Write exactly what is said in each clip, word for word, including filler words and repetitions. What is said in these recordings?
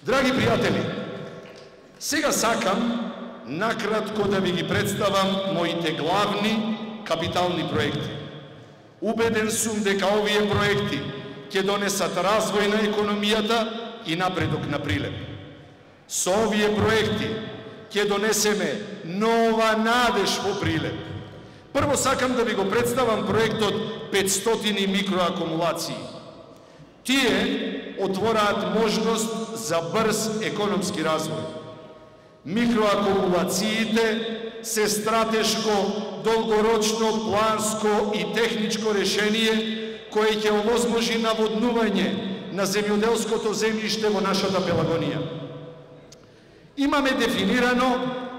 Драги пријатели, сега сакам накратко да ви ги представам моите главни капитални проекти. Убеден сум дека овие проекти ќе донесат развој на економијата и напредок на Прилеп. Со овие проекти ќе донесеме нова надеж во Прилеп. Прво сакам да ви го представам проектот петстотини микроакумулации. Тие отвораат можност за брз економски развој. Микроакумулациите се стратешко, долгорочно, планско и техничко решение кое ќе овозможи наводнување на земјоделското земјиште во нашата Пелагонија. Имаме дефинирано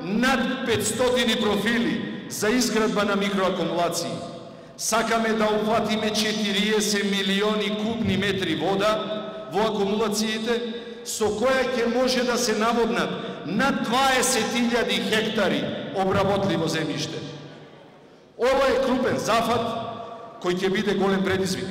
над петстотини профили за изградба на микроакумулации. Сакаме да опфатиме четириесет милиони кубни метри вода во акумулациите, со која ќе може да се наводнат над дваесет илјади хектари обработливо земјиште. Ова е крупен зафат кој ќе биде голем предизвик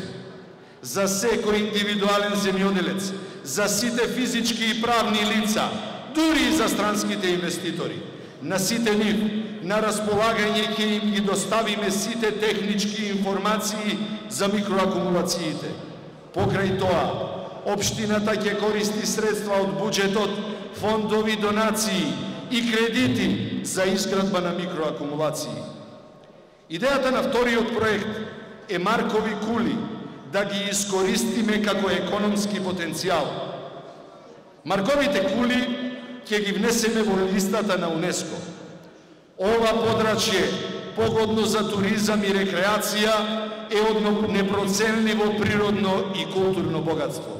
за секој индивидуален земјоделец, за сите физички и правни лица, дури и за странските инвеститори. На сите нив на располагање ќе им ги доставиме сите технички информации за микроакумулациите. Покрај тоа, општината ќе користи средства од буџетот, фондови, донации и кредити за изградба на микроакумулации. Идејата на вториот проект е Маркови кули да ги искористиме како економски потенцијал. Марковите кули ќе ги внесеме во листата на УНЕСКО. Ова подрачје, погодно за туризам и рекреација, е од непроценливо природно и културно богатство.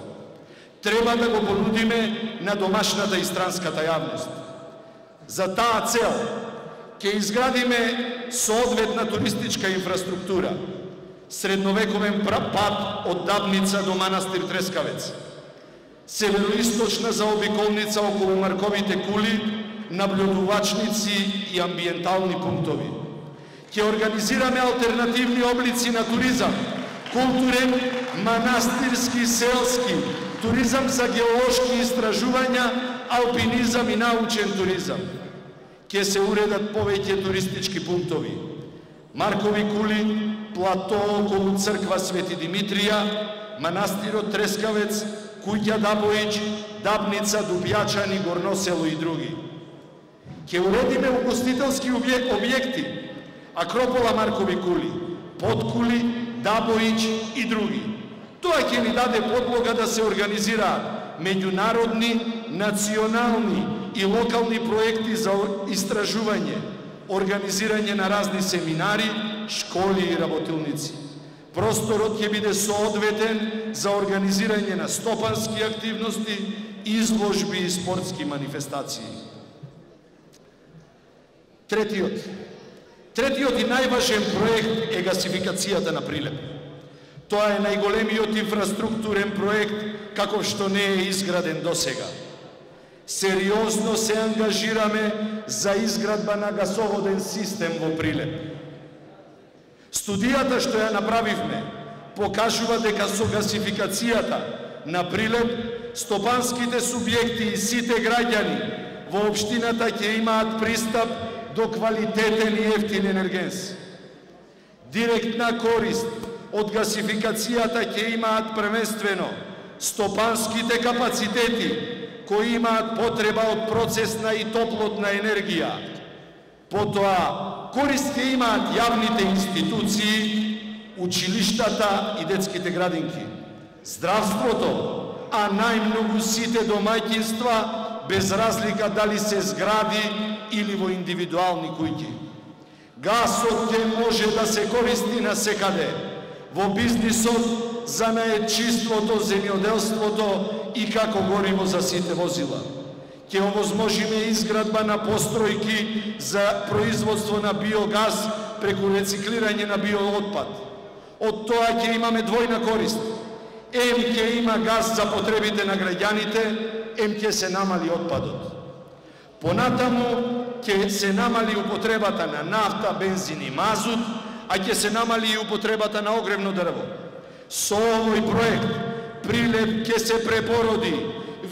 Треба да го понудиме на домашната и странската јавност. За таа цел ќе изградиме соодветна туристичка инфраструктура, средновековен пат од Дабница до манастир Трескавец, североисточна заобиколница околу Марковите кули, наблюдувачници и амбиентални пунктови. Ќе организираме алтернативни облици на туризам, културен, манастирски, селски, туризам за геолошки истражувања, алпинизам и научен туризам. Ќе се уредат повеќе туристички пунктови. Маркови кули, плато околу црква Свети Димитрија, манастирот Трескавец, куќа Дабоич, Дабница, Дупјачани, Горносело и други. Ќе уредиме угостителски објекти, Акропола Маркови кули, Подкули, Дабоич и други. Тоа ќе ни даде подлога да се организираат меѓународни, национални и локални проекти за истражување, организирање на разни семинари, школи и работилници. Просторот ќе биде соодветен за организирање на стопански активности, изложби и спортски манифестации. Третиот. Третиот и најважен проект е гасификацијата на Прилеп. Тоа е најголемиот инфраструктурен проект каков што не е изграден досега. Сериозно се ангажираме за изградба на гасоводен систем во Прилеп. Студијата што ја направивме покажува дека со гасификацијата на Прилеп стопанските субјекти и сите граѓани во општината ќе имаат пристап до квалитетен и ефтин енергенс. Директна корист од гасификацијата ќе имаат првенствено стопанските капацитети кои имаат потреба од процесна и топлотна енергија. Потоа, корист ќе имаат јавните институции, училиштата и детските градинки, здравството, а најмногу сите домаќинства, без разлика дали се згради или во индивидуални куќи. Гасот ќе може да се користи насекаде, во бизнисот, за наетчиството, земјоделството и како гориво за сите возила. Ќе овозможиме изградба на постројки за производство на биогаз преку рециклирање на биоотпад. Од тоа ќе имаме двојна корист. Ем ќе има газ за потребите на граѓаните, ем ќе се намали отпадот. Понатаму ќе се намали употребата на нафта, бензин и мазут, а ќе се намали и употребата на огревно дрво. Со овој проект Прилеп ќе се препороди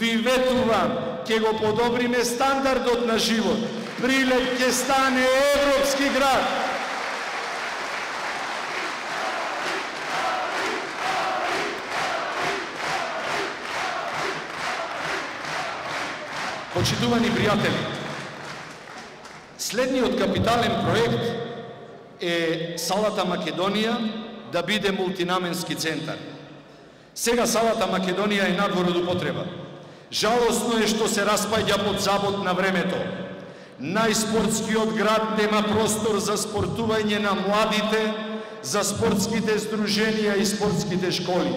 ви ветувам, ќе го подобриме стандардот на живот. Прилеп ќе стане европски град. Почитувани пријатели, следниот капитален проект е салата Македонија да биде мултинаменски центар. Сега салата Македонија е надвор од употреба. Жалосно е што се распаѓа под забот на времето. Најспортскиот град нема простор за спортување на младите, за спортските здруженија и спортските школи.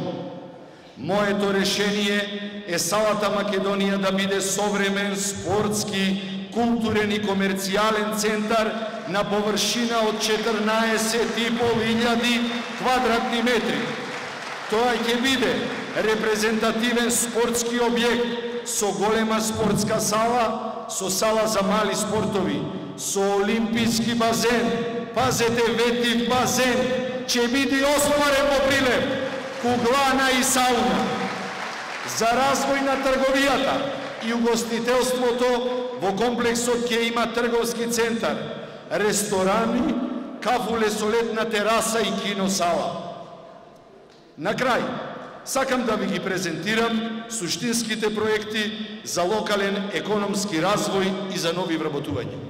Моето решение е салата Македонија да биде современ, спортски, културен и комерцијален центар на површина од четрнаесет и пол илјади квадратни метри. Тоа ќе биде репрезентативен спортски објект со голема спортска сала, со сала за мали спортови, со олимписки базен, пазете ветив базен, ќе биде осварен во Прилеп, куглана и сауна. За развој на трговијата и угостителството во комплексот ќе има трговски центар, ресторани, кафуле со летна тераса и киносала. На крај, сакам да ви ги презентирам суштинските проекти за локален економски развој и за нови вработувања.